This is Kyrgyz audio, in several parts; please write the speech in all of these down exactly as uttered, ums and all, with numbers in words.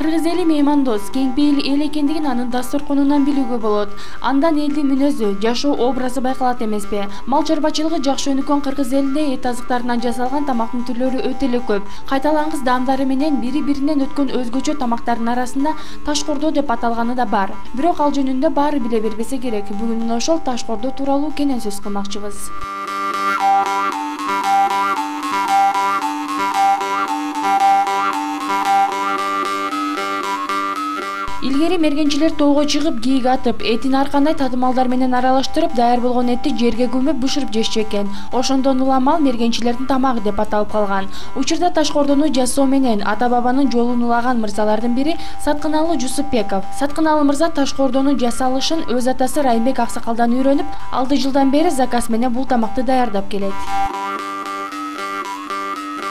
Кыргыз эли меймандос, кең пейил эл экендигин анын дасторконунан билүүгө болот. Андан элдин мүнөзү, жашоо образы байкалат эмеспи? Мал чарбачылыгы жакшы өнүккөн Кыргыз элинде эт азыктарынан жасалган тамактын түрлөрү өтө эле көп. Кайталангыс даамдары менен бири-биринен өткөн өзгөчө тамактардын арасында ташкордо деп аталганы да бар. Бирок ал жөнүндө баары биле бербесе керек. Бүгүн мына ошол ташкордо тууралуу кенен сөз кылмакчыбыз. Илгери мергенчилер тоого чыгып, кийик атып, этин ар кандай татымалдар менен аралаштырып, даяр болгон этти жерге көмүп бышырып жешчү экен. Ошондон улам ал мергенчилердин тамагы деп аталып калган. Учурда ташкордону жасоо менен ата-бабанын жолун улаган мырзалардын бири Саткыналуу Жусупбеков. Саткыналуу мырза ташкордону жасалышын өз атасы Райымбек Аксакалдан үйрөнүп, алты жылдан бери заказ менен бул тамакты даярдап келет.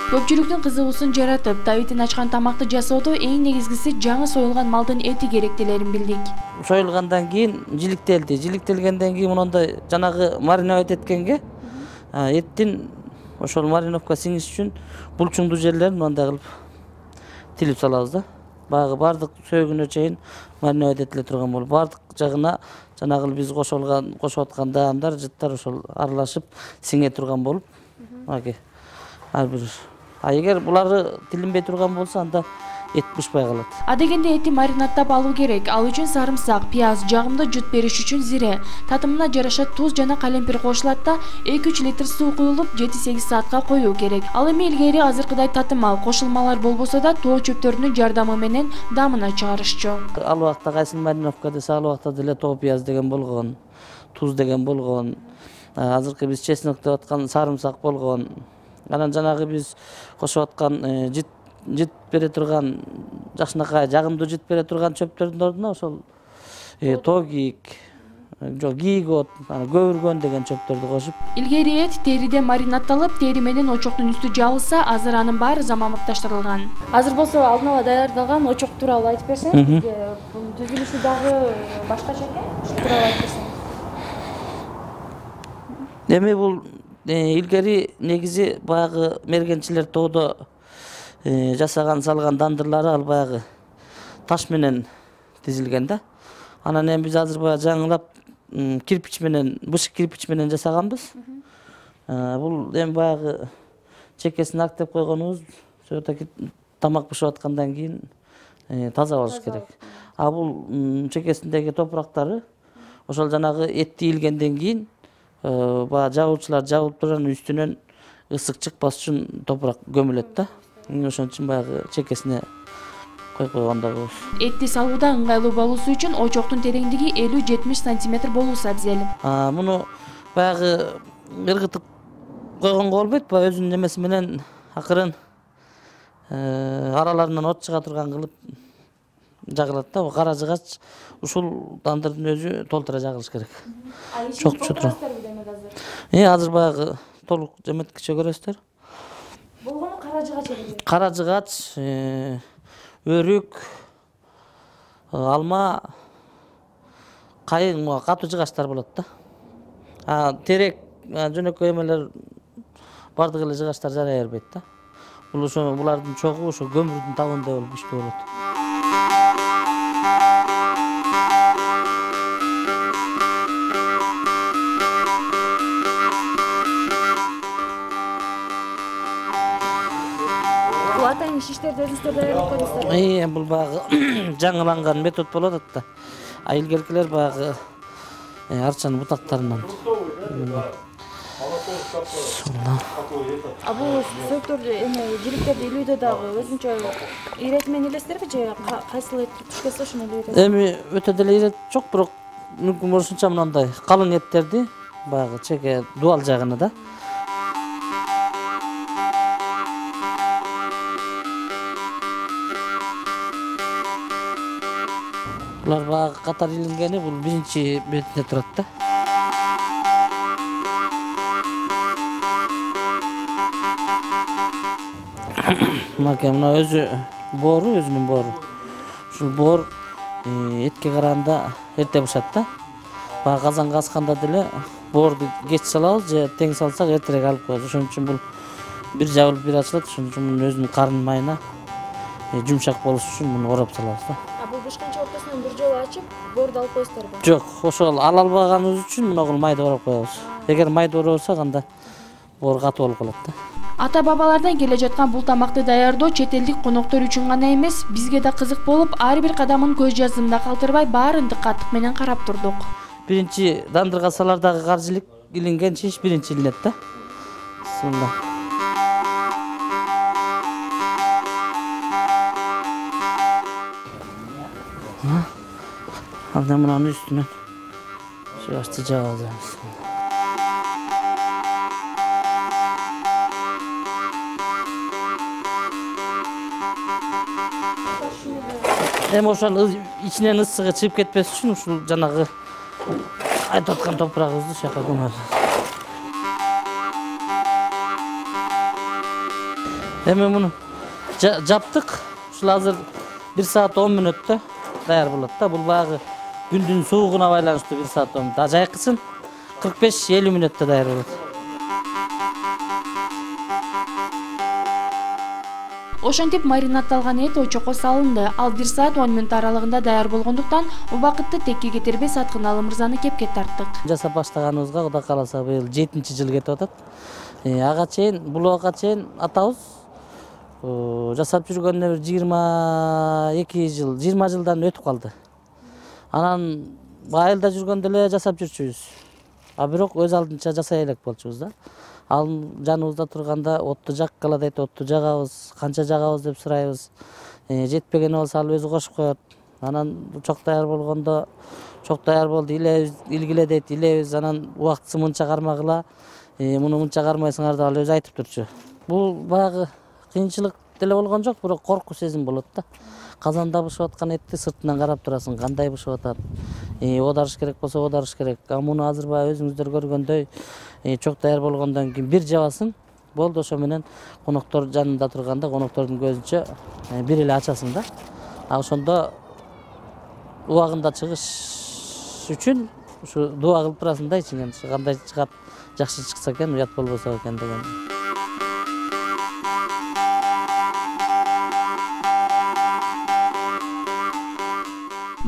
Көпчүлүктүн кызыгуусун жаратып, табитин ачкан тамакты жасоодо эң негизгиси жаңы союлган малдын эти керектелерин билдик. Союлгандан кийин жиликтелди. Жиликтелгенден кийин мындай жанагы мариновать эткенге эттин ошол мариновка сиңиш үчүн булчуңдуу жерлерин мындай кылып тилип салабыз да. Баягы бардык сөөгүнө чейин мариновать этиле турган болуп, бардык жагына жанагы биз кошолган, кошуп аткан даамдар, жыттар ошол аралашып сиңе турган болуп, аке ар бир. А эгер булары тилинбей турган болсо, анда эт бышпай калат. Адегенде эти маринадтап алуу керек. Ал үчүн сарымсак, пияз, жагымдуу жут бериш үчүн зире, татымына жараша туз жана калемпир кошулат да, эки-үч литр суу куюлуп, жети-сегиз саатка коюу керек. Ал эми илгери азыркыдай татымал, кошулмалар болбосо да, тоо чөптөрүнүн жардамы менен даамына чыгарышчу. Ал убакта кайсы мариновка десе, ал убакта деле тоо пияз деген болгон, туз деген болгон, азыркы биз чеснок деп аткан сарымсак болгон. Анан жанагы биз кошуп аткан жит жит бере турган, жакшынакай жагымдуу жит бере турган чөптөрдүн ордуна ошол тоо кийик, жок кийик от, көбүргөн деген чөптөрдү кошуп. Илгери эт териде маринадталып, тери менен очоктун үстү жабылса, азыр анын баары заманбапташтырылган. Азыр болсо алдын ала даярдалган очок тууралуу айтып берсең, бизге түзүлүшү дагы башкача экен, ушул тууралуу айтып берсең. Эми бул илгери негизи баягы мергенчилер тоодо жасаган салган дандырлары ал баягы таш менен тизилген да. Анан эми биз азыр баягы жаңылап кирпич менен, бышык кирпич менен жасаганбыз. Бул эми баягы чекесин актеп койгонубуз, сөтөк тамак бышып аткандан кийин таза болуш керек. А бул чекесиндеги топурактары ошол жанагы эт ийилгенден кийин баягы жабуучулар жабылып турган үстүнөн ысык чыкпас үчүн топурак көмүлөт да. Ошон үчүн баягы чекесине коюп койгондо болот. Этти салууда ыңгайлуу болуусу үчүн очоктун тереңдиги элүү-жетимиш сантиметр болуусу абзел. Муну баягы ыргытып койгонго болбойт, баягы өзүнүн немеси менен акырын араларынан от чыга турган кылып жагылат да. Кара жыгач ушул дандырдын өзү толтура жагылыш керек. Чок чотура. Э азыр баягы толук жеметкиче көрөсүздөр. Болгону кара жыгач эле. Кара жыгач, өрүк, алма, кайын, катуу жыгачтар болот да. А терек, жөнөкөй эмелер бардык эле жыгачтар жарай бербейт да. Бул ошо булардын чогу ошо көмүрдүн табындай болуп күчтүү болот. Атайын шиштерди өзүңүздөр даярдап койдуңуздар. Э, бул баягы жаңыланган метод болот атта. А илгеркилер баягы арчанын бутактарынан. А бул сөктөрдү эме жиликтерди илүүдө дагы өзүнчө ирет менен илесиздерби же кайсыл эт туш келсе ошону илебиз? Эми өтө деле ирет жок, бирок мүмкүн болушунча мындай калың эттерди баягы чеке дуал жагына да. Булар баягы катар илингени бул биринчи бетинде турат да. Мына мына өзү боору, өзүнүн боору. Ушул боор этке караганда эрте бышат да. Баягы казанга асканда деле боорду кеч салабыз же тең салсак эртерээк алып коебуз. Ошон үчүн бул бир жабылып бир ачылат. Ошон үчүн өзүнүн карын майына жумшак болуш үчүн муну ороп салабыз да. А бул бышкынчы ортосунан бир жолу ачып, боорду алып коесуздарбы? Жок, ошол ала албаганыбыз үчүн мунугу майды ороп коебуз. Эгер майды оробосок анда боор катуу болуп калат да. Ата бабалардан келе жаткан бул тамакты даярдоо чет элдик коноктор үчүн гана эмес, бизге да кызык болуп, ар бир кадамын көз жаздымда калтырбай баарын дыкаттык менен карап турдук. Биринчи дандырга салардагы каржылык илинген шиш биринчи илинет да. Бисмилла. Анда мунун үстүнөн жашты жагабыз. Эми ошол ичинен ысыгы чыгып кетпес үчүн ушул жанагы айтып аткан топурагыбызды ушака көмөбүз. Эми муну жаптык. Ушул азыр бир саат он мүнөттө даяр болот да. Бул баягы күндүн суугуна байланыштуу бир саат он мүнөт. А жайкысын кырк беш элүү мүнөттө даяр болот. Ошентип маринатталган эт очокко салынды. Ал бир саат он мүнөт аралыгында даяр болгондуктан убакытты текке кетирбей Саткыналы мырзаны кепке тарттык. Жасап баштаганыбызга Кудай кааласа быйыл жетинчи жыл кетип атат. Ага чейин, бул убакка чейин атабыз жасап жүргөнүнө бир жыйырма эки жыл, жыйырма жылдан өтүп калды. Анан айылда жүргөндө эле жасап жүрчүбүз. А бирок өз алдынча жасай элек болчубуз да. Ал жаныбызда турганда отту жаккыла дейт, отту жагабыз, канча жагабыз деп сурайбыз. Жетпеген болсо ал өзү кошуп коет. Анан чок даяр болгондо чок даяр болду, илебиз, илгиле дейт, илебиз. Анан убактысы мынча кармагыла, муну мынча кармайсыңар деп ал өзү айтып турчу. Бул баягы кыйынчылык деле болгон жок, бирок коркуу сезим болот да. Казанда бышып аткан этти сыртынан карап турасың, кандай бышып атат. Оодарыш керек болсо оодарыш керек. А муну азыр баягы өзүңүздөр көргөндөй чок даяр болгондон кийин бир жабасың, болду, ошо менен коноктор жанында турганда коноктордун көзүнчө бир эле ачасың да. А ошондо убагында чыгыш үчүн ушу дуа кылып турасың да ичиңен. Кандай чыгат, жакшы чыкса экен, уят болбосо экен деген.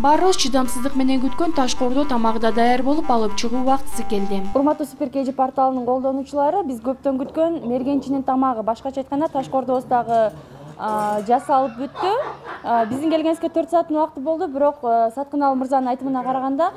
Баарыбыз чыдамсыздык менен күткөн ташкоордо тамагы да даяр болуп, алып чыгуу убактысы келди. Урматтуу Супер кей жи порталынын колдонуучулары, биз көптөн күткөн мергенчинин тамагы, башкача айтканда ташкоордобуздагы жасалып бүттү. Биздин келгенибизге төрт сааттын убакыты болду, бирок Саткыналы мырзанын айтымына караганда,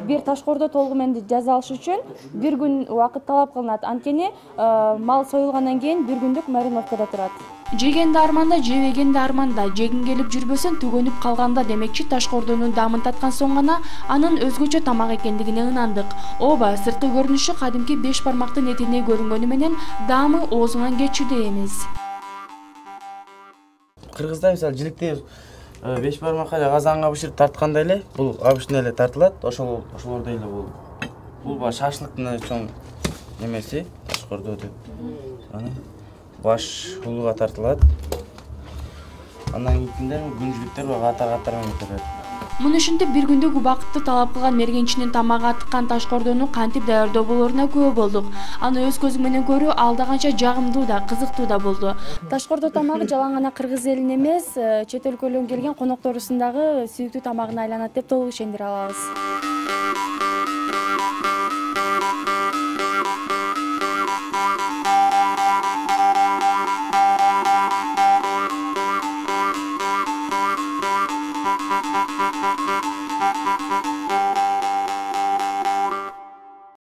бир ташкоордо толугу менен жасалыш үчүн бир күн убакыт талап кылынат. Анткени мал союлгандан кийин бир күндүк мариновкада турат. Жегенди арманда, жебегенди арманда, жегиң келип жүрбөсүн, түгөнүп калганда демекчи ташкоордонун даамын таткан соң гана анын өзгөчө тамак экендигине ынандык. Ооба, сырткы көрүнүшү кадимки беш бармактын этине көрүнгөнү менен даамы оозуңан кетчүдөй эмес. Кыргызда мисалы жиликтей беш бармакка эле казанга бышырып тарткандай эле, бул абышына эле тартылат. Ошол ошолордой эле бул. Бул баш шашлыктын чоң немеси, ташкоордо деп. Анан баш улуга тартылат. Андан кийин күнжүлүктөр катар-катар менен турат. Муну ушинтип бир күндүк убакытты талап кылган мергенчинин тамагы атыккан ташкоордону кантип даярдоо болоруна күбө болдук. Аны өз көзүң менен көрүү алда канча жагымдуу да, кызыктуу да болду. Ташкоордо тамагы жалаң гана кыргыз элин эмес, чет өлкөлөрдөн келген конокторубуздун дагы сүйүктүү тамагына айланат деп толук ишендире алабыз.